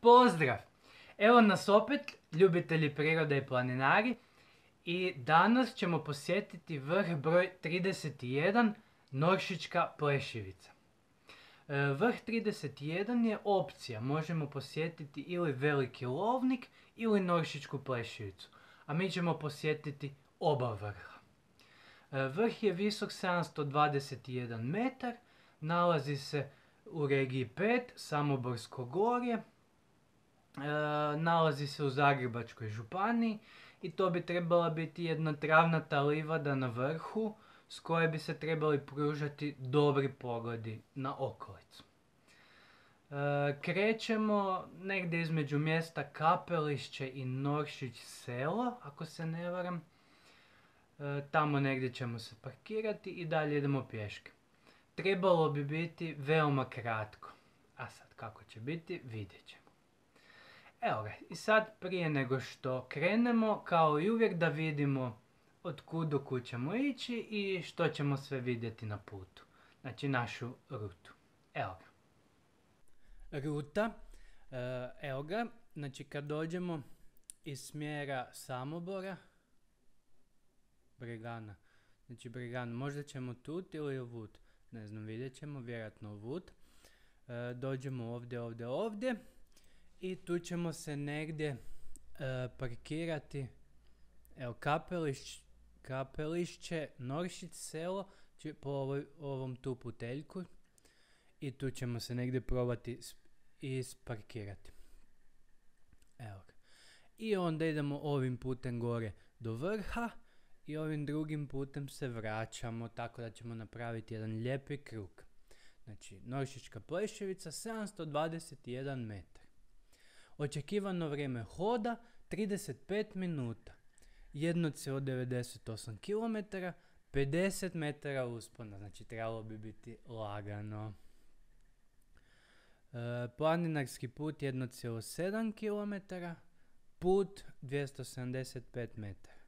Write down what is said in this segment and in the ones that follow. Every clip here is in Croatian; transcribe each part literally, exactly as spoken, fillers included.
Pozdrav! Evo nas opet, ljubitelji prirode i planinari, i danas ćemo posjetiti vrh broj trideset jedan, Noršićka Pleševica. Vrh trideset jedan je opcija, možemo posjetiti ili Veliki Lovnik ili Noršićku Pleševicu, a mi ćemo posjetiti oba vrha. Vrh je visok sedamsto dvadeset jedan metar, nalazi se u regiji pet, Samoborsko gorje, e, nalazi se u Zagrebačkoj županiji i to bi trebala biti jedna travnata livada na vrhu s koje bi se trebali pružati dobri pogledi na okolicu. E, krećemo negdje između mjesta Kapelišće i Noršić selo, ako se ne varam. E, tamo negdje ćemo se parkirati i dalje idemo pješke. Trebalo bi biti veoma kratko, a sad kako će biti vidjet ćemo. Evo ga, i sad prije nego što krenemo, kao i uvijek da vidimo od kud do kud ćemo ići i što ćemo sve vidjeti na putu. Znači našu rutu. Evo ga. Ruta, evo ga, znači kad dođemo iz smjera Samobora, Bregana, znači Bregana, možda ćemo tut ili ovut, ne znam, vidjet ćemo, vjerojatno ovut. E, dođemo ovdje, ovdje, ovdje i tu ćemo se negdje e, parkirati, evo Kapelišć, Kapelišće, Noršić selo, po ovoj, ovom tu puteljku i tu ćemo se negdje probati isparkirati. Evo ga. I onda idemo ovim putem gore do vrha i ovim drugim putem se vraćamo, tako da ćemo napraviti jedan lijepi krug. Znači, Noršićka Pleševica, sedamsto dvadeset jedan metar. Očekivano vrijeme hoda, trideset pet minuta. jedan zarez devedeset osam kilometara, pedeset metara uspona, znači trebalo bi biti lagano. E, planinarski put jedan zarez sedam kilometara, put dvjesto sedamdeset pet metara.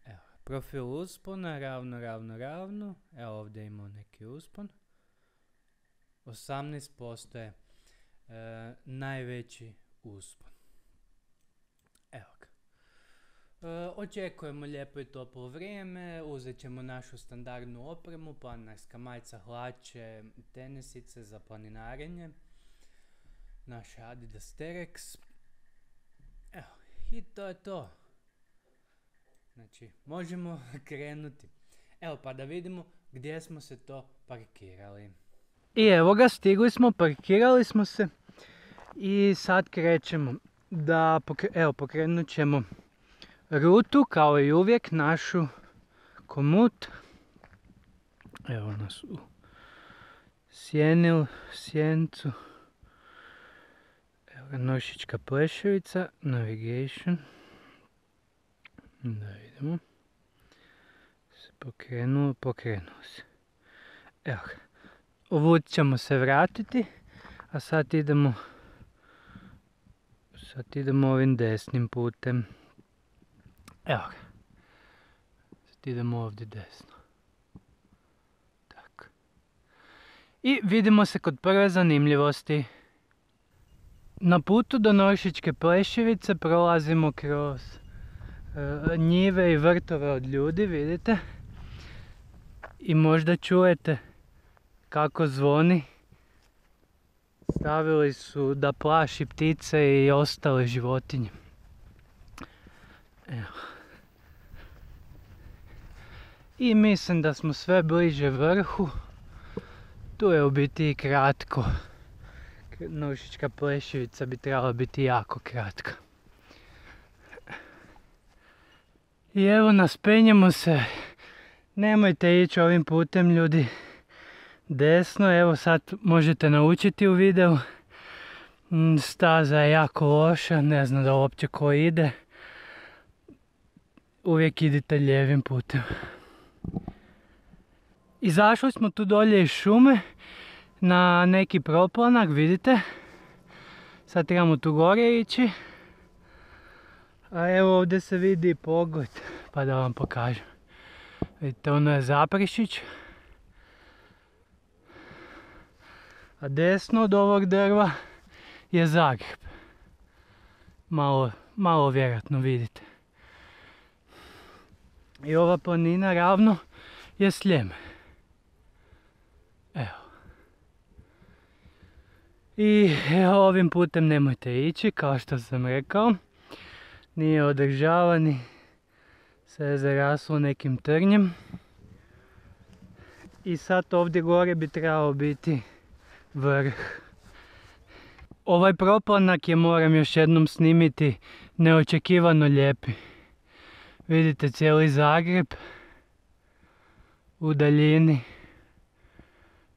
Evo, profil uspona, ravno, ravno, ravno. Evo ovdje imamo neki uspon. osamnaest posto je e, najveći uspon. Evo ga. E, očekujemo lijepo i toplo vrijeme, uzet ćemo našu standardnu opremu, planinarska majica, hlače, tenisice za planinarenje, naše Adidas Terex. Evo, i to je to. Znači, možemo krenuti. Evo pa da vidimo gdje smo se to parkirali. I evo ga, stigli smo, parkirali smo se i sad krećemo. Da, pokre, evo, pokrenut ćemo rutu, kao i uvijek, našu komut. Evo nas u sjeni, sjencu. Evo ga, Noršićka Pleševica, navigation. Da vidimo. Se pokrenulo, pokrenulo se. Evo ga. Ovud ćemo se vratiti, a sad idemo, sad idemo ovim desnim putem. Evo ga. Sad idemo ovdje desno. Tako. I vidimo se kod prve zanimljivosti. Na putu do Noršićke Pleševice prolazimo kroz e, njive i vrtove od ljudi, vidite. I možda čujete kako zvoni. Stavili su da plaši ptice i ostale životinje. Evo. I mislim da smo sve bliže vrhu. Tu je u biti i kratko. Noršićka Pleševica bi trebala biti jako kratka. I evo nas, penjemo se. Nemojte ići ovim putem, ljudi. Desno, evo sad možete naučiti u videu. Staza je jako loša, ne znam da uopće ko ide. Uvijek idite lijevim putem. Izašli smo tu dolje iz šume na neki proplanak, vidite. Sad trebamo tu gore ići. A evo ovdje se vidi pogled, pa da vam pokažem. Vidite, ono je Zaprešić. A desno od ovog drva je Zagreb. malo, malo vjerojatno vidite. I ova planina ravno je Sljeme. Evo. I evo, ovim putem nemojte ići, kao što sam rekao. Nije održavani, sve je zaraslo nekim trnjem. I sad ovdje gore bi trebao biti vrh. Ovaj proplanak je, moram još jednom snimiti, neočekivano lijepi. Vidite cijeli Zagreb u daljini,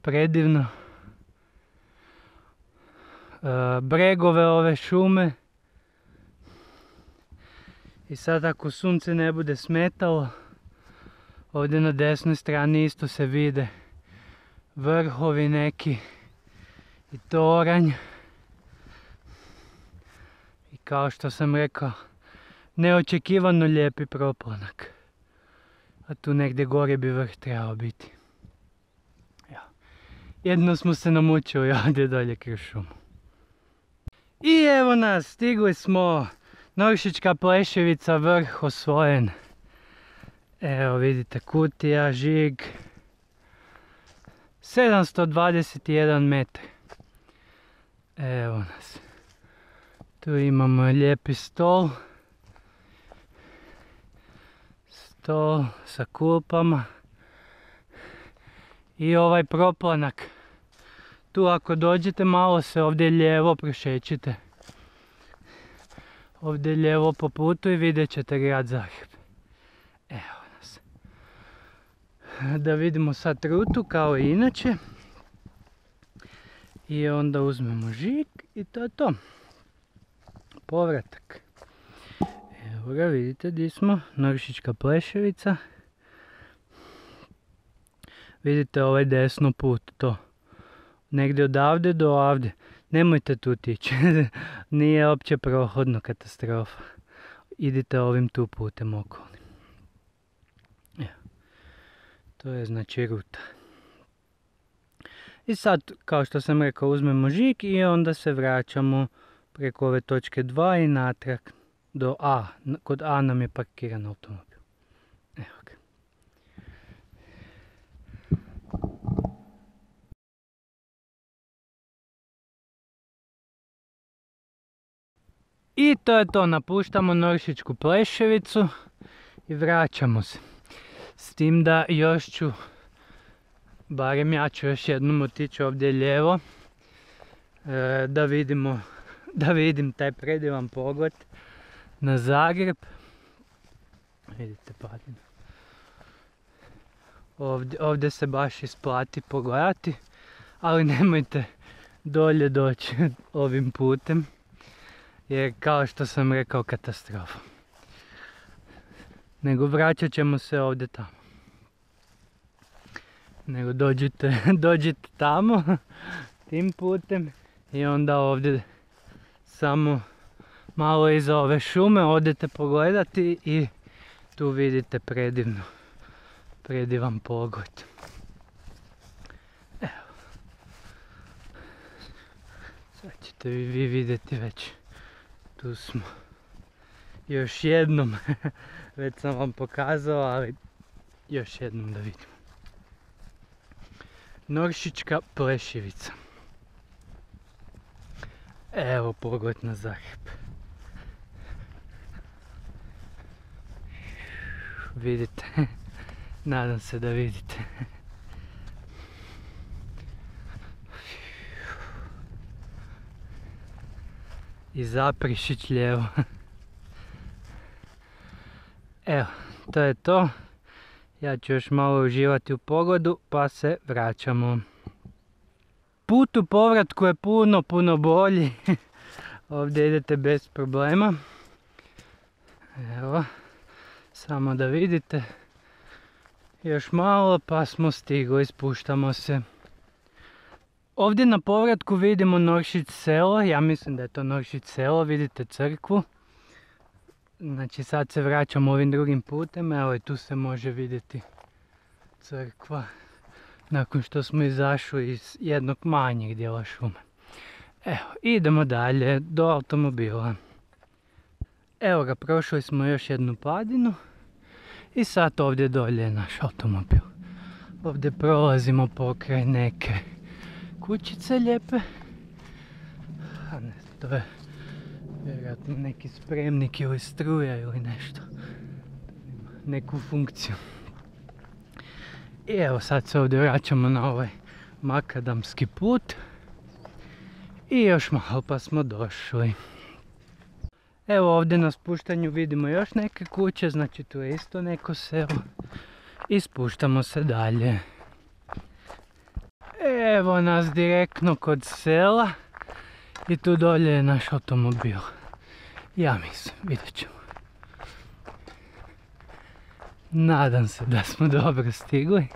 predivno. E, bregove ove šume. I sad ako sunce ne bude smetalo, ovdje na desnoj strani isto se vide vrhovi neki i toranj. I kao što sam rekao, neočekivano lijepi proplanak. A tu negdje gore bi vrh trebao biti. Jedno smo se namučili ovdje dolje kroz šumu. I evo nas, stigli smo. Noršička Pleševica, vrh osvojen. Evo vidite, kutija, žig. sedamsto dvadeset jedan metar. Evo nas. Tu imamo lijepi stol. Stol sa klupama. I ovaj proplanak. Tu ako dođete malo se ovdje lijevo prošećite. Ovdje lijevo po putu i vidjet ćete grad Zagreb. Evo nas. Da vidimo sad rutu kao i inače. I onda uzmemo žig i to je to. Povratak. Evo ga, vidite gdje smo. Noršička Pleševica. Vidite ovaj desno put, to. Negdje odavde do ovdje. Nemojte tu tići. Nije opće prohodno, katastrofa. Idite ovim tu putem okolnim. Evo. To je znači ruta. I sad, kao što sam rekao, uzmemo žig i onda se vraćamo preko ove točke dva i natrag do A. Kod A nam je parkiran automobil. Evo ga. I to je to, napuštamo Noršičku Pleševicu i vraćamo se. S tim da još ću, barem ja ću još jednom otići ovdje lijevo, e, da vidimo, da vidim taj predivan pogled na Zagreb. Vidite padinu. Ovdje, ovdje se baš isplati pogledati, ali nemojte dolje doći ovim putem. Jer kao što sam rekao, katastrofa. Nego vraćat ćemo se ovdje tamo. Nego dođite, dođite tamo, tim putem. I onda ovdje samo malo iza ove šume odete pogledati i tu vidite predivno, predivan pogled. Evo. Sad ćete vi, vi vidjeti već. Tu smo. Još jednom. Već sam vam pokazao, ali još jednom da vidimo. Noršička Pleševica. Evo pogled na Zagreb. Vidite. Nadam se da vidite. I Zaprešić lijevo. Evo, to je to. Ja ću još malo uživati u pogledu, pa se vraćamo. Put u povratku je puno, puno bolji. Ovdje idete bez problema. Evo, samo da vidite. Još malo pa smo stigli, spuštamo se. Ovdje na povratku vidimo Noršić selo, ja mislim da je to Noršić selo, vidite crkvu. Znači sad se vraćamo ovim drugim putem, evo i tu se može vidjeti crkva. Nakon što smo izašli iz jednog manjeg dijela šume. Evo, idemo dalje do automobila. Evo ga, prošli smo još jednu padinu i sad ovdje dolje je naš automobil. Ovdje prolazimo pokraj neke kućice lijepe. A ne, to je vjerojatno neki spremnik ili struja ili nešto. Neku funkciju. I evo sad se ovdje vraćamo na ovaj makadamski put. I još malo pa smo došli. Evo ovdje na spuštanju vidimo još neke kuće, znači tu je isto neko selo. I spuštamo se dalje. Evo nas direktno kod sela. I tu dolje je naš automobil. Ja mislim, vidjet ćemo. Nadam se da smo dobro stigli.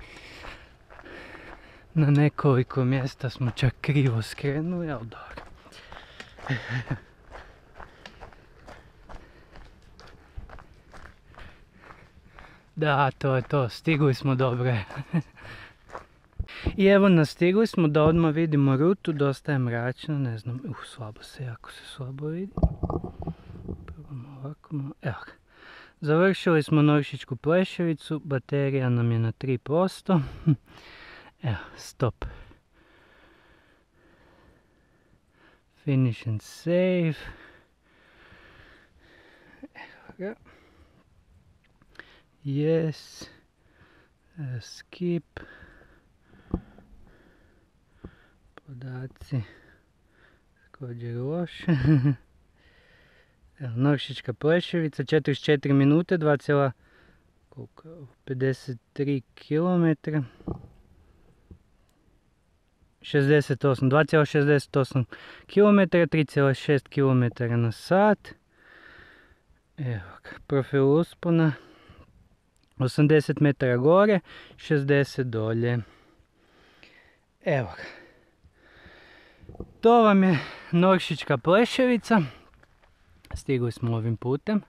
Na nekoliko mjesta smo čak krivo skrenuli, ali dobro. Da, to je to, stigli smo dobro. I evo nas, stigli smo da odmah vidimo rutu, dosta je mračno, ne znam, uh, slabo se, jako se slabo vidi. Probamo ovako malo, evo ga. Završili smo Noršićku Pleševicu, baterija nam je na tri posto. Evo, stop. Finish and save. Evo ga. Yes. Uh, skip. Podaci. Također loše. Evo, Noršićka Pleševica, četrdeset četiri minute, dva zarez pedeset tri kilometra. šezdeset osam, dva zarez šezdeset osam kilometara, tri zarez šest kilometara na sat. Evo ga, profil uspona. osamdeset metara gore, šezdeset dolje. Evo ga. To vam je Noršićka Pleševica. Stigli smo ovim putem,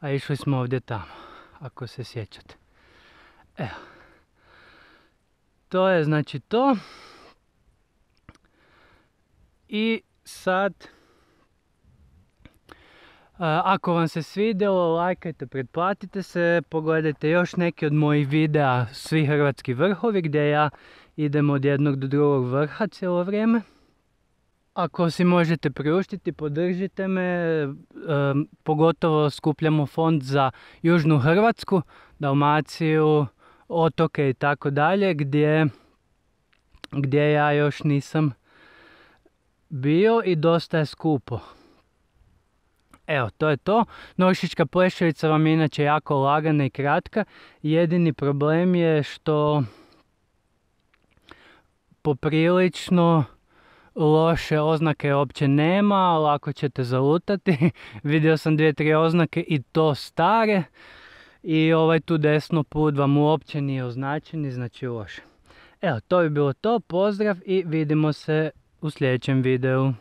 a išli smo ovdje tamo, ako se sjećate. Evo. To je znači to. I sad, ako vam se svidjelo, lajkajte, pretplatite se, pogledajte još neki od mojih videa Svi hrvatski vrhovi, gdje ja idem od jednog do drugog vrha cijelo vrijeme. Ako si možete priuštiti, podržite me, pogotovo skupljamo fond za Južnu Hrvatsku, Dalmaciju, otoke i tako dalje, gdje, gdje ja još nisam bio i dosta je skupo. Evo, to je to. Noršićka Pleševica vam je inače jako lagana i kratka. Jedini problem je što poprilično loše oznake uopće nema, lako ćete zalutati. Vidio sam dvije, tri oznake i to stare. I ovaj tu desno put vam uopće nije označen, znači loše. Evo, to bi bilo to. Pozdrav i vidimo se u sljedećem videu.